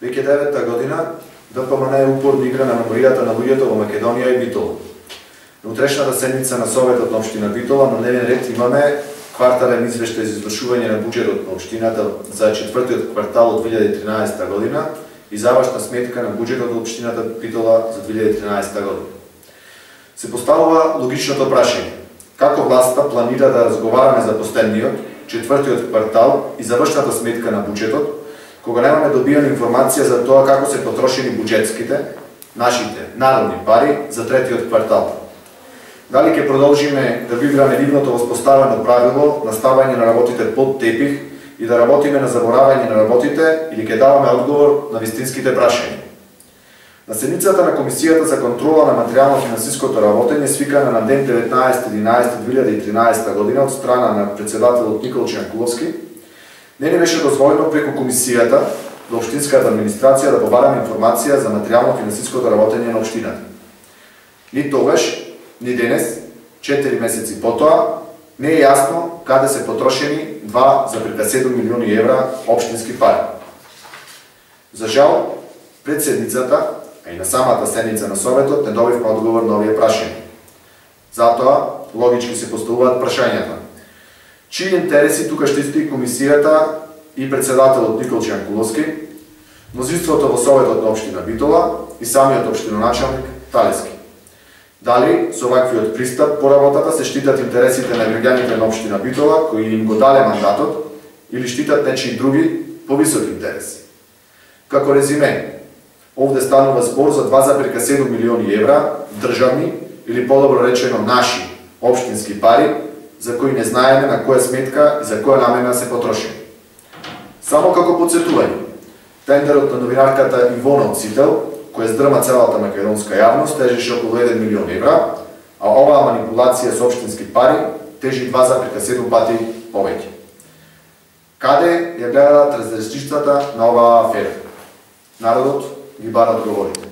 Веќе 9-та година ДПМН е упорно игра на меморијата на луѓето во Македонија и Битола. На утрешната седница на Советот на општина Битола на дневен ред имаме квартален извештај за извршување на буџетот на општината за четвртиот квартал од 2013 година и завршна сметка на буџетот од општината Битола за 2013 година. Се поставува логичното прашање: како власта планира да разговараме за последниот, четвртиот квартал и завршната сметка на буџетот, кога немаме добиена информација за тоа како се потрошени буџетските, нашите народни пари за третиот квартал? Дали ќе продолжиме да го играме нивното воспоставено правило на ставање на работите под тепих и да работиме на заборавање на работите, или ќе даваме одговор на вистинските прашања? На седницата на Комисијата за контрола на материјално-финансиското работење, свикана на ден 19.11.2013 година од страна на председателот Никол Чанкуловски, не ни беше дозволено преку Комисијата до општинската администрација да побараме информација за материјално-финансиското работење на општината. Ни тогаш, ни денес, 4 месеци потоа, не е јасно каде се потрошени 2,7 милиони евра општински пари. За жал, пред седницата, а и на самата седница на Советот, не добивме одговор на овие прашања. Затоа, логички се поставуваат прашањата: чии интереси тука штити Комисијата и председателот Никол Чанкуловски, мнозинството во Советот на општина Битола и самиот општиноначалник Талески? Дали со ваквиот пристап по работата се штитат интересите на граѓаните на општина Битола, кои им го дале мандатот, или штитат нечии други повисоки интереси? Како резиме, овде станува збор за 2,7 милиони евра државни, или подобро речено наши општински пари, за кои не знаеме на која сметка и за која намена се потрошени. Само како подсетување, тендерот на новинарката Ивона Оцител, која здрма целата македонска јавност, тежеше околу 1 милион евра, а оваа манипулација со општински пари тежи 2,7 пати повеќе. Каде ја гледат разрешницата на оваа афера? Народот ги бара одговорите.